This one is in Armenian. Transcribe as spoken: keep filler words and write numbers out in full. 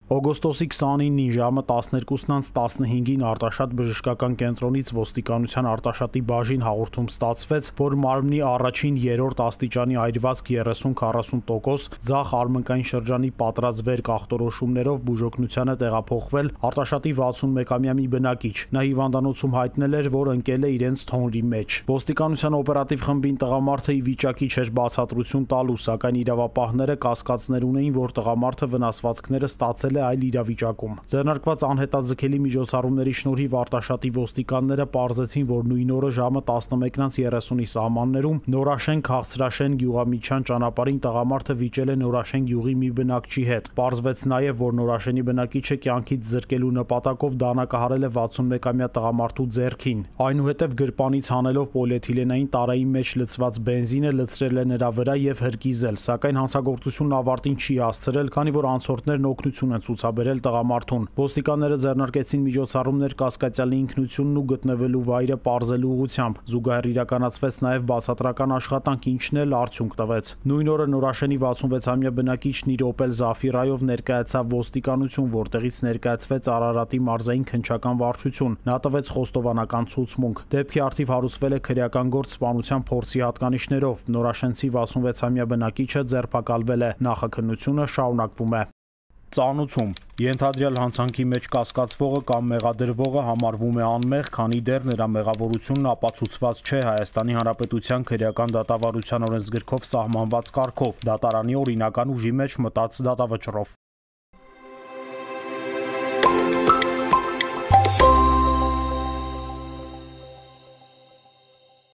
Օգոստոսի քսանինին ժամը տասներկուսն տասնհինգին Արտաշատ բժշկական կենտրոնից ոստիկանության Արտաշատի բաժին հաղորդում ստացվեց, որ մարմնի առաջին երրորդ աստիճանի այրվածք երեսուն քառասուն տոկոս ձախ արմնկային շրջանի պատրաստվեր ախտորոշումներով բուժօգնության է տեղափոխվել Արտաշատի վաթսունմեկամյա մի բնակիչ։ Նա հիվանդանոցում հայտնել էր, որ ընկել է իրենց թոնրի մեջ։ Ոստիկանության օպերատիվ խմբին տղամարդը ի վիճակի չէր բացատրություն տալու, սակայն իրավապահները կասկածներ ունեին, որ տղամարդը վնասվածքները ստացել այլ իրավիճակում։ Ձեռնարկված անհետաձգելի միջոցառումների շնորհիվ Արտաշատի ոստիկանները պարզեցին, որ նույն օրը ժամը տասնմեկն երեսունի սահմաններում Նորաշեն Քաղցրաշեն գյուղամիջյան ճանապարհին տղամարդը վիճել է Նորաշեն գյուղի մի բնակչի հետ։ Պարզվեց նաև, որ Նորաշենի բնակիչը կյանքից զրկելու նպատակով դանակահարել է վաթսունմեկամյա տղամարդու ձեռքին։ Այնուհետև գրպանից հանելով պոլիէթիլենային տարայի մեջ լցված բենզինը լցրել է նրա վրա եւ հրկիզել, սակայն հանցագործությունն ավարտին չի հասցրել, քանի որ անցորդներն օգնություն են ցուցաբերել տղամարդուն։ Ոստիկանները ձեռնարկեցին միջոցառումներ կասկածյալի ինքնությունն ու գտնվելու վայրը պարզելու ուղղությամբ։ Զուգահեռ իրականացվեց նաև բացատրական աշխատանք, ինչն էլ արդյունք տվեց։ Նույն օրը Նորաշենի վաթսունվեցամյա բնակիչն իր Opel Zafira-ով ներկայացավ ոստիկանություն, որտեղից ներկայացվեց Արարատի մարզային քննչական վարչություն։ Նա տվեց խոստովանական ցուցմունք։ Դեպքի առթիվ հարուցվել է քրեական գործ սպանության փորձի հատկանիշներով։ Նորաշենցի վաթսունվեցամյա բնակիչը ձերբակալվել է։ Նախաքննությունը շարունակվում է։ Ծանուցում ենթադրյալ հանցանքի մեջ կասկածվողը կամ մեղադրվողը համարվում է անմեղ, քանի դեռ նրա մեղավորությունն ապացուցված չէ Հայաստանի Հանրապետության քրեական դատավարության օրենսգրքով սահմանված կարգով, դատարանի օրինական ուժի մեջ մտած դատավճռով։